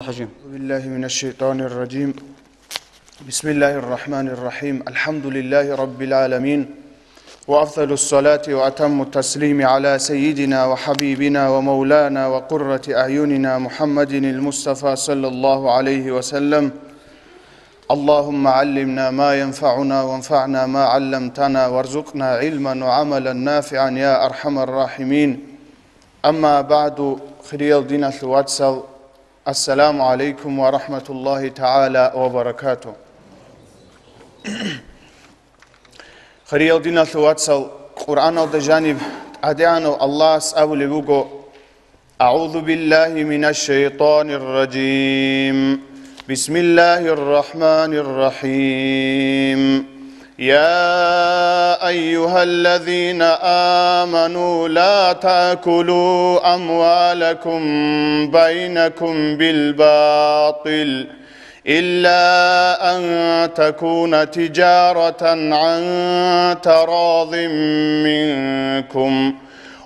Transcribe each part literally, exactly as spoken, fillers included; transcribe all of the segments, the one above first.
الرجيم. أعوذ بالله من الشيطان الرجيم. بسم الله الرحمن الرحيم. الحمد لله رب العالمين. وأفضل الصلاة وأتم التسليم على سيدنا وحبيبنا ومولانا وقرة أعيننا محمد المصطفى صلى الله عليه وسلم. اللهم علمنا ما ينفعنا وانفعنا ما علمتنا وارزقنا علما وعملا نافعا يا أرحم الراحمين. أما بعد، хириял диналъул вацал, السلام عليكم ورحمة الله تعالى وبركاته. Хириял диналъул вацал, Къуръаналда жаниб ТӀадегӀанав Аллагьас абулеб буго: أعوذ بالله من الشيطان الرجيم. بسم الله الرحمن الرحيم. يا أيها الذين آمنوا لا تأكلوا أموالكم بينكم بالباطل إلا أن تكون تجارة عن تراض منكم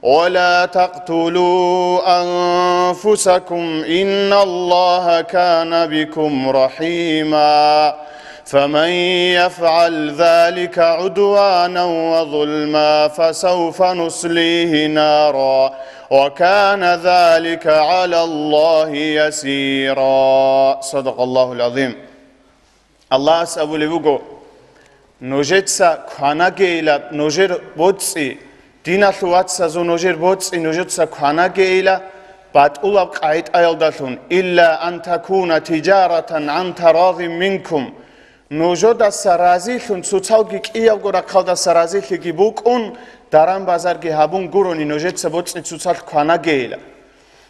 ولا تقتلوا أنفسكم إن الله كان بكم رحيما. فمن يفعل ذلك عدوانا وظلما فسوف نصليه نارا وكان ذلك على الله يسيرا. صدق الله العظيم. Аллагьас абулеб буго: нужеца кванагейилаб нужер боцӀи, диналъул вацазул нужер боцӀи нужеца кванагейила батӀулаб къагӀидаялдалъун, إلا أن تكون تجارة عن تراض منكم, нужедаса разилъун, цоцалги кӀиябго рахъалдаса разилъиги букӀун, даран-базарги гьабун гурони нужеца боцӀи цоцалъ кванагейила.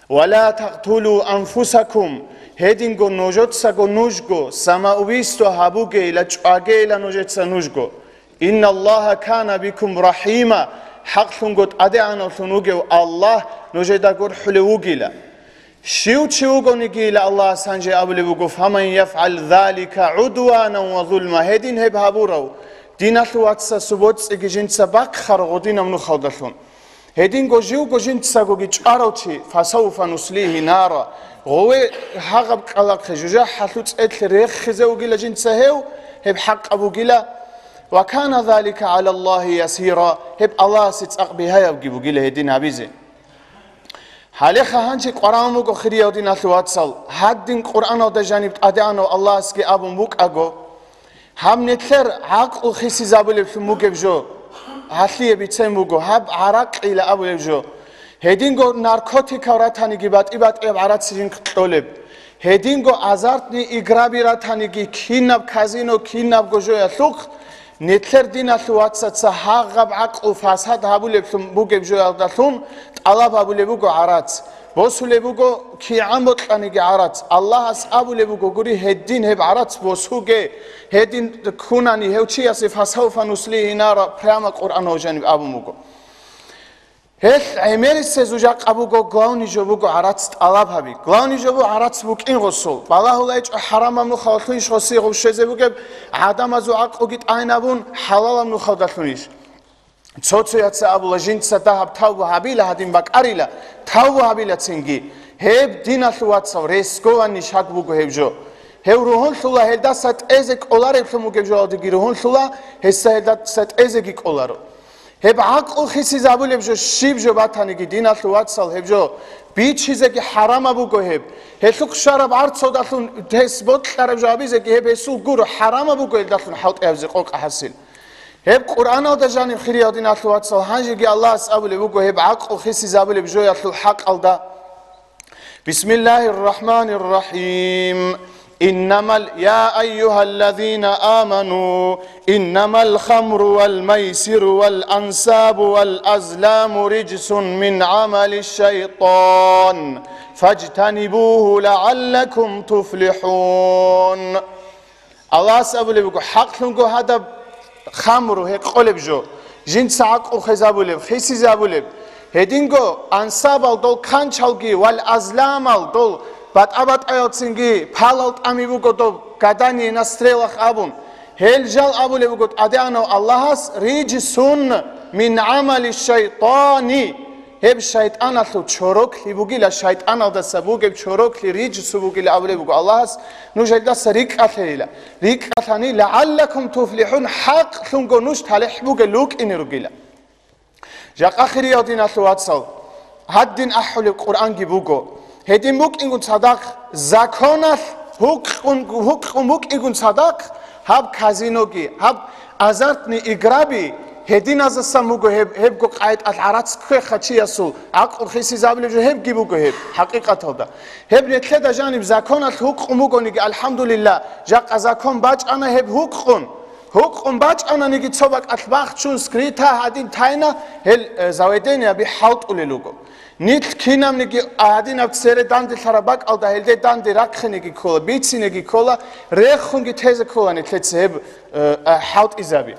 ولا تقتلوا أنفسكم, гьединго нужецаго нужго самоубийство гьабугейила, чӀвагейила нужеца нужго. إن الله كان بكم رحيما, хӀакълъунго ТӀадегӀанавлъун вугев Аллагь нужеда гурхӀулев вугила. Щив чи вугонигийила Аллагьас гьанже абулеб буго: فمن يفعل ذلك عدوانا وظلما, гьедин гьеб гьабурав, диналъул вацасул боцӀиги жинца бахъарав гъодинаб нухалдалъун. Гьединго живго жинцагоги чӀварав чи, فسوف نصليه نارا, гъове гьагъаб кӀкӀалахъе жужахӀалъул цӀедлъи рехизе вугила жинца гьев, гьеб хӀакъаб бугила, وكان ذلك على الله يسيرا, гьеб Аллагьасе цӀакъ бигьаябги бугила гьедин гьабизе. Гьалеха гьанже къварагӀун буго, хириял диналъул вацал, гьадин Къуръаналда жаниб ТӀадегӀанав Аллагьасги абун букӀаго, гьаб нилъер гӀакълу хисизабулеблъун бугеб жо, гьалъие бицен буго, гьаб гӀаракъила абулеб жо. Гьединго наркотикал ратаниги батӀи-батӀияб гӀарац жинхъ кьолеб. Гьединго азартный играби ратаниги, кинаб казино, кинабго жоялъухъ, нилъер диналъул вацаца гьагъаб гӀакълу фасад гьабулеблъун бугеб жоялдалъун тӀалаб гьабулеб буго гӀарац. Босулеб буго кигӀан бокьаниги гӀарац. Аллагьас абулеб буго гури, гьедин гьеб гӀарац босуге, гьедин ккунани гьев чиясе, فسوف نصليه نارا, прямо Къуръан гьав жаниб абун буго. Гьелъ гӀемерисезул жакъа буго, главный жо буго гӀарац тӀалаб гьаби. Главный жо буго гӀарац букӀин гъосул. БалагьулайчӀо хӀарамаб нухалдалъунищ гъосие гъов щвезе бугеб, гӀадамазул гӀакълуги тӀайнабун, хӀалалаб нухалдалъунищ. Цо-цояца абула, жинца дагьаб тавбу гьабила, гьадин бакӀарила, тавбу гьабила цинги. Гьеб, диналъул вацал, рискованный шаг буго гьеб жо. Гьев ругьунлъула, гьелдаса тӀезе кӀолареблъун бугеб жоялдеги ругьунлъула, гьесда гьелдаса тӀезеги кӀоларо. Гьеб гӀакълу хисизабулеб жо, щиб жо батаниги, диналъул вацал, гьеб жо бичизеги хӀарамаб буго гьеб. Гьелъухъ щвараб гӀарцалдалъун гьес бокьараб жо гьабизеги гьеб гьесул гуро, хӀарамаб буго гьелдалъун хӀалтӀи гьабизе къокъ хӀасил. Гьеб Къуръаналда жаниб, хириял диналъул вацал, гьанжеги Аллагьас абулеб буго, гьеб гӀакълу хисизабулеб жоялъул хӀакъалда. بسم الله الرحمن الرحيم. إنما ال-، يا أيها الذين آمنوا، إنما الخمر والميسر والأنصاب والأزلام رجس من عمل الشيطان فاجتنبوه لعلكم تفلحون. Аллагьас абулеб буго, хӀакълъунго гьадаб хамру, гьекъолеб жо, жинца гӀакълу хвезабулеб, хисизабулеб, гьединго ансабал дол канчалги вал азламал дол батӀа-батӀаял цинги палал тӀами буго доб гадание на стрелах абун, гьел жал абулеб буго ТӀадегӀанав Аллагьас: رجس من عمل الشيطان, Гьеб шайтӀаналъул чороклъи бугила, шайтӀаналдаса бугеб чороклъи рижсу бугила абулеб буго Аллагьас, нуж гьелдаса рикӀкӀалъейила. РикӀкӀалъани, лагӀаллакум туфлихӀун, хӀакълъунго нуж талихӀ бугел рукӀине ругила. Жакъа хириял диналъул вацал, гьадин ахӀулеб Къуръанги буго. Гьедин букӀингун цадахъ, законалъ гьукъун, гьукъун букӀингун цадахъ, гьаб казиноги, гьаб азартный играби, гьединазасан буго гьеб, гьебго къайтӀалъ гӀарац кквеха чиясул гӀакълу хисизабулеб жо гьебги буго гьеб, хӀакъикъаталда. Гьеб нилъеда жаниб законалъ гьукъун бугониги, алхӀамдулилла, жакъа закон бачӀана гьеб гьукъун. Гьукъун бачӀананиги цо бакӀалъ бахчун, скрыто гьадин тайна гьел, э, заведениеби хӀалтӀулел руго. Нилъ кинабниги гьадинаб цере данделъараб бакӀалда гьелде данде рахъинеги ккола, бицинеги ккола, рехунги тезе ккола нилъеца гьеб, э, э, хӀалтӀизаби.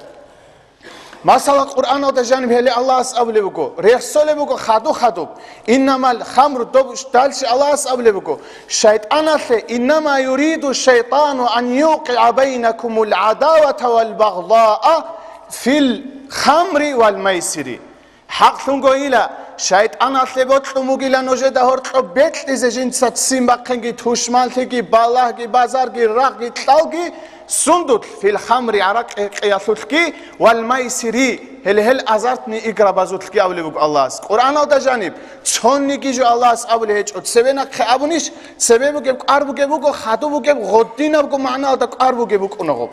Масала, Къуръаналда жаниб гьеле Аллагьас абулеб буго, рехсолеб буго хадуб-хадуб. Иннамал хамру, доб далчи Аллагьас абулеб буго, шайтӀаналъе, иннама юриду шайтӀану ан юкъигӀа байнакумул гӀадавата вал багъдаа фил хамри вал майсири. ХӀакълъунгойила, шайтӀаналъе бокьун бугила нужеда гьоркьоб бекьизе жинца ццин бахъинги, тушманлъиги, балагьги, базарги, рагъги, кьалги, сундулъ, фил хамри, гӀаракь-гьекъеялъулъги, вал майсири, гьеле гьел азартный играбазулъги абулеб буго Аллагьас. Къуръаналда жаниб, цониги жо Аллагьас абулеб гьечӀо, цебе нахъе абунищ, цебе бугеб кӀвар бугеб буго, хадуб бугеб, гъодинабго магӀналда кӀвар бугеб букӀунаго.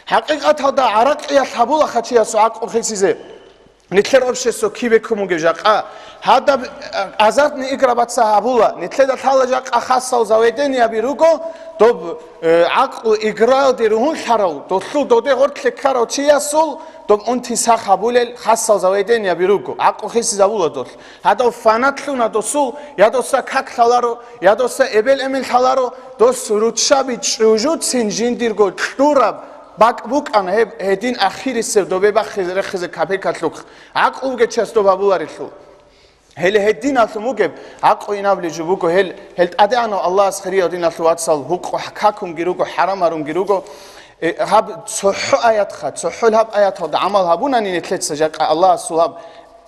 ХӀакъикъаталда гӀаракьиялъ гьабулаха чиясул гӀакълу хисизе. Нилъер общество кибе ккун бугеб жакъа? Гьадаб, э, азартный играбаца гьабула. Нилъеда лъала жакъа хасал заведениеби руго, доб, э, гӀакълу играялде ругьунлъарав, долъул доде гъоркье ккарав чиясул доб унти сах гьабулел хасал заведениеби руго. ГӀакълу хисизабула долъ. Гьадав фанат лъуна досул, я доса как лъаларо, я доса эбел-эмен лъаларо, дос руччаби чӀужуцин жиндирго кьураб бакӀ букӀана гьеб, гьедин ахирисеб добе бахъизе рехизе капекалъухъ, гӀакълу бугечияс доб гьабуларелъул. Гьеле гьединалъун бугеб гӀакълу инабли жо буго гьел, гьел ТӀадегӀанав Аллагьас хириял диналъул вацал гьукъу какунги руго, хӀарам гьарунги руго. Э, гьаб цохӀо аятха, цохӀол гьаб аяталда гӀамал гьабунани нилъеца жакъа Аллагьасул гьаб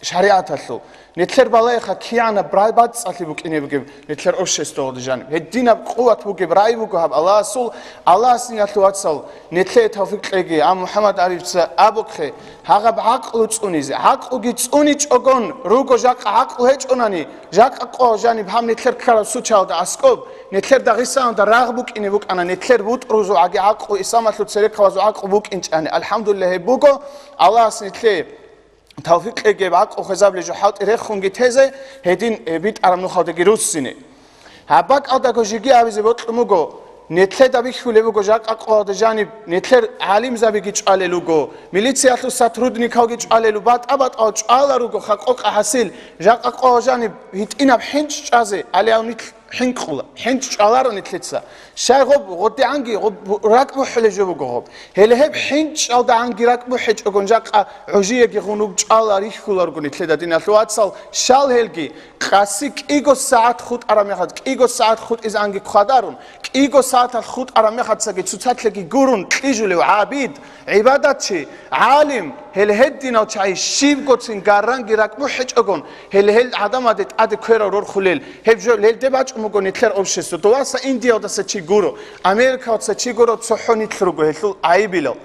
шаригӀаталъул. Нилъер балайха кигӀанаб рай бацӀцӀалъи букӀине бугеб нилъер обществоялда жаниб. Гьединаб къуват бугеб рай буго гьаб Аллагьасул, Аллагьас диналъул вацал нилъее тавфикъ кьеги, а МухӀаммад Арифца абухъе, гьагъаб гӀакълу цӀунизе, гӀакълуги цӀуничӀогон руго жакъа гӀакълу гьечӀонани, жакъа къо жаниб гьаб нилъер ккараб сучалда аскӀоб, нилъер Дагъистаналда рагъ букӀине букӀана, нилъер бутӀрузул гӀаги гӀакълу, исламалъул церехъабазул гӀакълу букӀинчӀани. АлхӀамдулиллагь, гьеб буго, Аллагьас нилъее тавфикъ кьеги, гӀакълу хвезабулеб жо хӀалтӀи рехунги тезе, гьедин, э, битӀараб нухалдаги руссине. Гьаб бакӀалдаго жеги абизе бокьун буго, нилъеда бихьулеб буго жакъа къоялда жаниб, нилъер гӀалимзабиги чӀвалел руго, милициялъул сотрудникалги чӀвалел руго, батӀа-батӀал чӀвала руго, хакъокъа хӀасил, жакъа къоялда жаниб гьитӀинаб хӀинчӀ чӀвазе, алияв нилъ хӀинкъула, хӀинчӀ чӀваларо нилъеца. Щай гъоб, гъодигӀанги гъоб ракӀ бухӀулеб жо буго гъоб. Гьеле гьеб хӀинчӀалдагӀанги ракӀ бухӀечӀогон жакъа гӀужиеги гъунуб чӀвала рихьуларго нилъеда диналъул вацал, щал гьелги къаси кӀиго сагӀат хутӀараб мехалъ, кӀиго сагӀат хутӀизанги хъвадарун, кӀиго сагӀаталъ хутӀараб мехалъцаги цоцалъеги гурун кьижулев гӀабид, гӀибадатчи, гӀалим, гьел гьединал чагӀи щибгоцин гарранги ракӀ бухӀечӀогон, гьел гьел гӀадамаде тӀаде кверал рорхулел, гьеб жо гьелде бачӀун буго нилъер общество. Доваса Индиялдаса чи гуро, Америкалдаса чи гуро, цохӀо нилъ руго гьелъул гӀайибилал.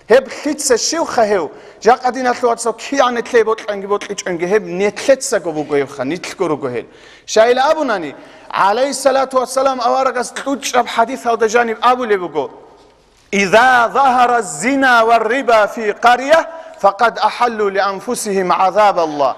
Гьеб лъица щивха гьев? Жакъа диналъул вацал кигӀан нилъее бокьанги бокьичӀонги, гьеб нилъецаго буго гьебха, нилъго руго гьел. Щайила абунани, гӀалайгьиссалату вассалам аварагас кьучӀаб хӀадисалда жаниб абулеб буго: «Иза загьара зина ва риба фи къария, факъад ахаллу ли анфусихим гӀазабалла».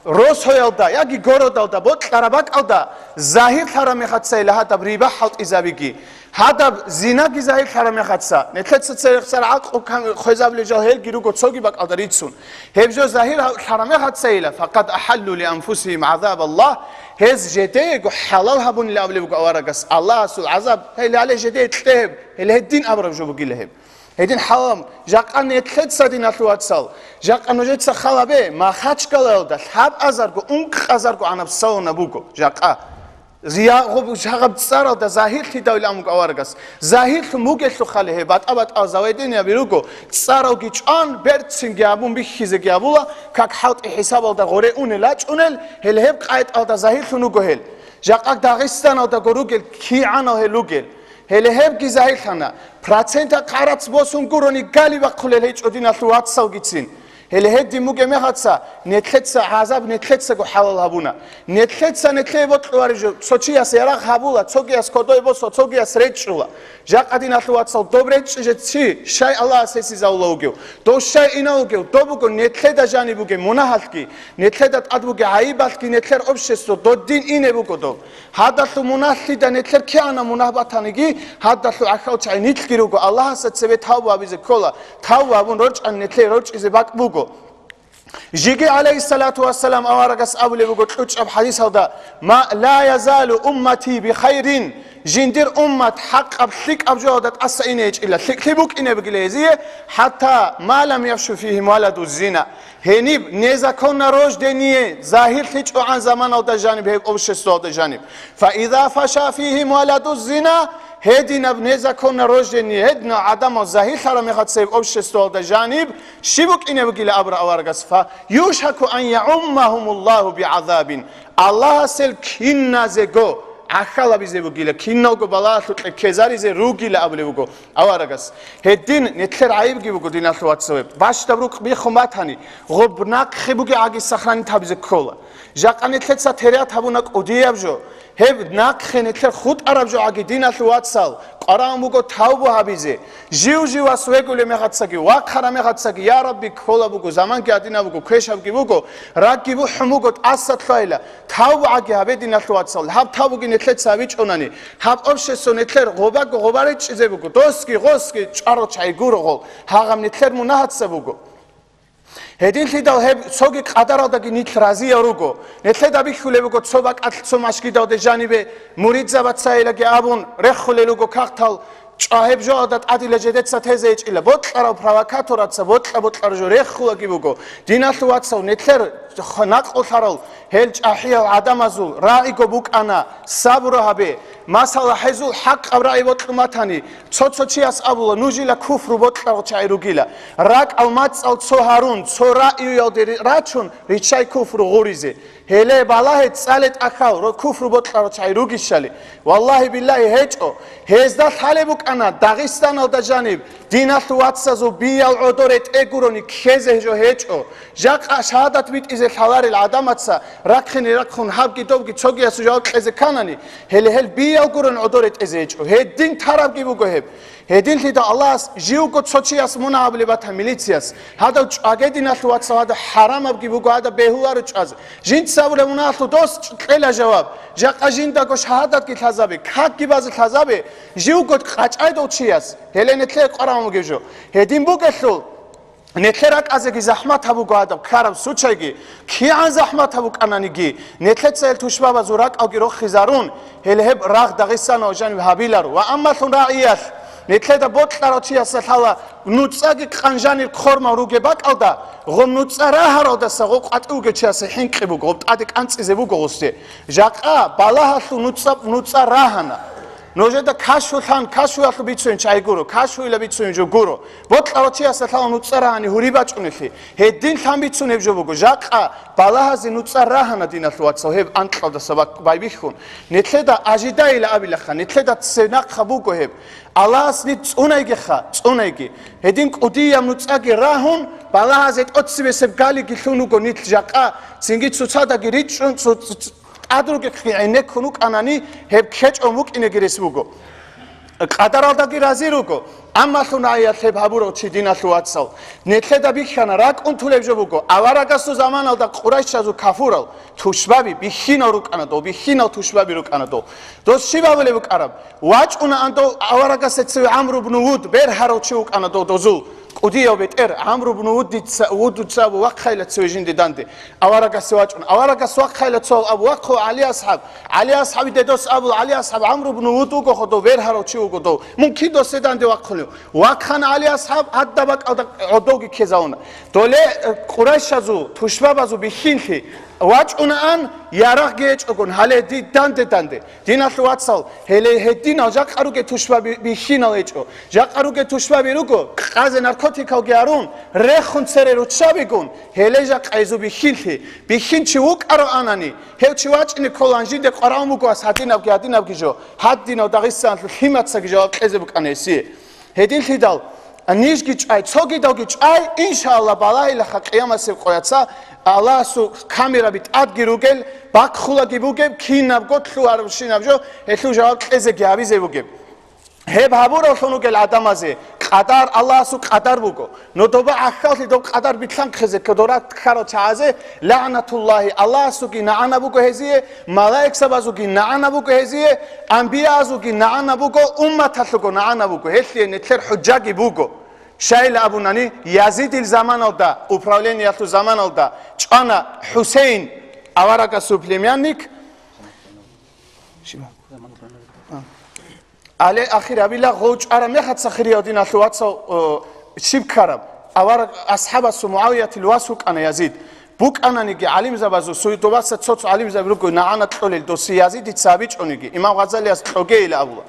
Росоялда яги городалда бокьараб бакӀалда загьирлъараб мехацайила гьадаб риба хӀалтӀизабиги, гьадаб зинаги загьирлъараб мехаца, нилъеца церехсар гӀакълу кам-, хвезабулел жал гьелги руго цоги бакӀалда рицун. Гьеб жо загьирлъараб мехацайила, факъад ахаллу ли анфусихим гӀазабалла, гьез жедеего хӀалал гьабунила абулеб буго аварагас Аллагьасул гӀазаб, гьеле гьале жедее кье гьеб, гьеле гьедин абураб жо бугила гьеб. Гьедин хӀалам, жакъа нилъеца диналъул вацал, жакъа нужеца халабе, Махачкалаялда лъабазарго, ункъазарго гӀанаб салона буго, жакъа. Зиягъуб жагъаб цӀаралда загьирлъидавилан буго аварагас. Загьирлъун бугелъухъали гьеб батӀа-батӀал заведениеби руго, цӀаралги чӀван, берцинги абун бихьизеги абула, как хӀалтӀи хӀисабалда гъоре унел-ачӀунел, гьел гьеб къайтӀалда загьирлъун руго гьел. Жакъа Дагъистаналдаго ругел кигӀанал гьел ругел. Гьеле гьебги загьирлъана. Процента хъарац босун гурони гали бахъулел гьечӀо диналъул вацалгицин. Гьеле гьедин бугеб мехаца, нетлъеца гӀазаб нетлъецаго хӀалал гьабуна. Нетлъеца нетлъее бокьулареб жо, цо чияс ярагъ гьабула, цогияс кодой босула, цогияс речӀчӀула. Жакъа диналъул вацал доб речӀчӀизе чи, щай Аллагьас гьесизавула вугев? Дов щай инав вугев? Доб буго нетлъеда жаниб бугеб мунагьалъги, нетлъеда тӀад бугеб гӀайибалъги нетлъер общество додин ине буго доб. Гьадалъул мунагьлъида нетлъер кигӀана мунагь батаниги, гьадалъул гӀахьал чагӀи нилъги руго, Аллагьасда цебе тавба гьабизе ккола, тавба гьабун рорчӀани нетлъей рорчӀизе бакӀ буго. Жеги, гӀалайгьиссалату вассалам, аварагас абулеб буго кьучӀаб хӀадисалда: «Ма ла язалу уммати би хайрин», жиндир уммат хӀакъаб лъикӀаб жоялда тӀаса ине гьечӀила, лъикӀлъи букӀине бугила гьезие, «хӀатта ма лам яфшу фигьим валаду зина». Гьениб незаконно рождение загьирлъичӀогӀан заманалда жаниб, гьеб обществоялда жаниб. Фа иза фаша фигьим валаду зина, гьединаб незаконно рождение, гьединал гӀадамал загьирлъараб мехалъ цеб обществоялда жаниб, щиб букӀине бугила абура аварагас, фа юшаку ан яуммагьумуллагьу бигӀазабин. Аллагьас гьел киназего гӀахьалабизе бугила, киналго балагьалъукье ккезаризе ругила абулеб буго аварагас. Гьедин нетлъер гӀайибги буго, диналъул вацал, гьеб. Бащдаб рукъ биххун батани, гъоб нахъе бугеб гӀаги сохранить гьабизе ккола. Жакъа нетлъеца терят гьабуна кӀудияб жо. Гьеб нахъе нетлъер хутӀараб жо гӀаги, диналъул вацал, къварагӀун буго тавбу гьабизе. Жив-живас вегулеб мехацаги, вахъараб мехацаги, я Рабби, ккола буго, заманги гьадинаб буго, квешабги буго, ракӀги бухӀун буго, тӀаса лъвайила. Тавбу гӀаги гьабе, диналъул вацал, гьаб тавбуги нетлъеца гьабичӀонани, гьаб общество нетлъер гъобаго гъоба речӀчӀизе буго, досги гъосги чӀварал чагӀи гуро гъол, гьагъаб нетлъер мунагьаца буго. Гьединлъидал гьеб цоги къадаралдаги нилъ разиял руго. Нетлъеда бихьулеб буго цо бакӀалъ цо машгидалде жанибе муридзабацайилаги абун рехулел руго кагътал, чӀва гьеб жоалда тӀадила жедеца тезе гьечӀила. Бокьарав провокатораца бокьа-бокьараб жо рехулаги буго. Диналъул вацал, нетлъер накълулъарал гьел чӀахӀиял гӀадамазул рагӀиго букӀана, сабру гьабе. Масала, гьезул хӀакъаб рагӀи бокьун батани, цо-цо чияс абула, нужила куфру бокьарал чагӀи ругила. РакӀал мацӀал цо гьарун, цо рагӀиялде ри-, рачун, риччай куфру гъуризе. Гьеле балагье, цӀале тӀахьал, ро-, куфру бокьарал чагӀи ругищали. Валлагьи-биллагьи, гьечӀо. Гьезда лъалеб букӀана Дагъистаналда жаниб, диналъул вацазул биял гӀодоре тӀегурони ккезе жо гьечӀо. Жакъа шагьадат битӀизе лъаларел гӀадамаца рахъине рахъун гьабги добги цогиясул жаваб кьезе кканани, гьеле гьел биял гурун гӀодоре тӀезе гьечӀо. Гьедин тарабги буго гьеб. Гьединлъидал Аллагьас живго цо чияс мунагь гьабулеб батан милицияс, гьадав чӀваге, диналъул вацал, гьадав хӀарамабги буго, гьадав бегьуларо чӀвазе. Жинца абулеб мунагьалъул дос кьела жаваб. Жакъа жиндаго шагьадатги лъазабе, какги базе лъазабе, живго къачӀайдал чияс, гьеле нетлъе къварагӀун бугеб жо. Гьедин бугелъул, нетлъе ракӀазеги захӀмат гьабуго гьадаб ккараб сучайги, кигӀан захӀмат гьабукӀананиги, нетлъеца гьел тушбабазул ракӀалги рохизарун, гьеле гьеб рагъ Дагъистаналъ жаниб гьабиларо. Ва аммалъун рагӀиялъ, нетлъеда бокьарав чиясда лъала нуцӀаги къанжанир хъормал ругеб бакӀалда, гъом нуцӀа рагьаралдаса гъо къватӀив вугев чиясе хӀинкъи буго, гъоб тӀаде кӀанцӀизе буго гъусде. Жакъа балагьалъул нуцӀа, нуцӀа рагьана. Нужеда кашфулъан, кашфуялъул бицунеб чагӀи гуро, кашфуила бицунеб жо гуро. Бокьарав чиясда лъала нуцӀа рагьани гьури бачӀунелъи. Гьедин лъан бицунеб жо буго. Жакъа балагьазе нуцӀа рагьана, диналъул вацал, гьеб анкьалдаса бак-, байбихьун. Нетлъеда ажидайила абилаха, нетлъеда ценахъа буго гьеб. Аллагьас нид цӀунайгиха, цӀунайги. Гьедин кӀудияб нуцӀаги рагьун, балагьазе тӀоцебесеб галиги лъун вуго нилъ жакъа, цинги цоцадаги ричӀчӀун, цо-, цо-, цо-, тӀад ругехъги гӀенеккун вукӀанани, гьеб ккечӀон вукӀинеги рес буго. Къадаралдаги рази руго, аммалъун гӀайялъ гьеб гьабурав чи, диналъул вацал. Нетлъеда бихьана, ракӀун тулеб жо буго, аварагасул заманалда къурайшазул кафурал тушбаби бихьинал рукӀана дов, бихьинал тушбаби рукӀана дов. Дос щиб абулеб букӀараб? ВачӀунаан дов аварагасда цеве ГӀамру бну Вуд, бергьарав чи вукӀана дов дозул. КӀудияв бетӀер ГӀамру бну Вудица, Вудуца абу вахъайила цеве жинде данде. Аварагасде вачӀун. Аварагас вахъайила цо абу вахъо ГӀали асхӀаб. ГӀали асхӀаби дедос абул, ГӀали асхӀаб ГӀамру бну Вуд вуго ходов, бергьарав чи вуго дов. Мун кидосе данде вахъунев? Вахъана ГӀали асхӀаб, гьадаб бакӀалда гӀодовги ккезавуна. Доле, э, къурайшазул, тушбабазул бихьинлъи, ВачӀунаан, ярагъги гьечӀогун, гьале ди-, данде-данде. Диналъул вацал, гьеле гьединал жакъа ругел тушбаби бихьинал гьечӀо. Жакъа ругел тушбаби руго, къазе наркотикалги гьарун, рехун цере руччабигун, гьеле жакъа гьезул бихьинлъи. Бихьинчи вукӀароанани, гьев чи вачӀине кколан жинде къварагӀун буго ас гьадинабги, гьадинабги жо. Гьадинав Дагъистаналъул лъимацаги жаваб кьезе букӀана гьесие. Гьединлъидал, нижги чӀай, цогидалги чӀай, иншаалла, балагьилаха къиямасеб къояца Аллагьасул камераби тӀадги ругел, бакхулаги бугеб, кинабго лъугьарабщинаб жо, гьелъул жаваб кьезеги гьабизе бугеб. Гьеб гьабураллъун ругел гӀадамазе къадар, Аллагьасул къадар буго. Но доба гӀахьаллъи доб къадар билълъанхъизе кодора ккарал чагӀазе, лагӀнатуллагьи, Аллагьасулги нагӀана буго гьезие, малаикзабазулги нагӀана буго гьезие, анбияазулги нагӀана буго, умматалъулго нагӀана буго, гьелъие нилъер хӀужжаги буго. Щайила абунани, Язидил заманалда, управлениялъул заманалда чӀвана ХӀусейн, аварагасул племянник, Але ахир гьабила гъов чӀараб мехаца хирияв диналъул вацал, о, щиб ккараб? Авараг асхӀабасул МугӀавиятил вас вукӀана Язид. БукӀананиги гӀалимзабазул, суюдубаса цо-цо гӀалимзаби руго нагӀана кьолел досе Язидица абичӀониги, имам Гъазалияс кьогейила абула.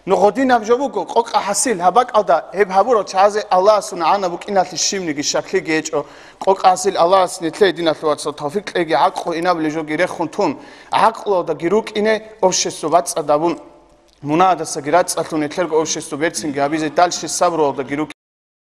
Ну гъодинаб жо буго, къокъа хӀасил, гьаб бакӀалда гьеб гьабурал чагӀазе Аллагьасул нагӀана букӀиналъе щибниги щаклъиги гьечӀо, къокъа хӀасил Аллагьас нилъее диналъул вацал тавфикъ кьеги, гӀакълу инабулеб жоги рехун тун, гӀакълуялдаги рукӀине, общество бацӀцӀадабун. Мунагьадасаги рацӀцӀалъун нилъерго общество берцинги гьабизе, дальше сабруялдаги рукӀин.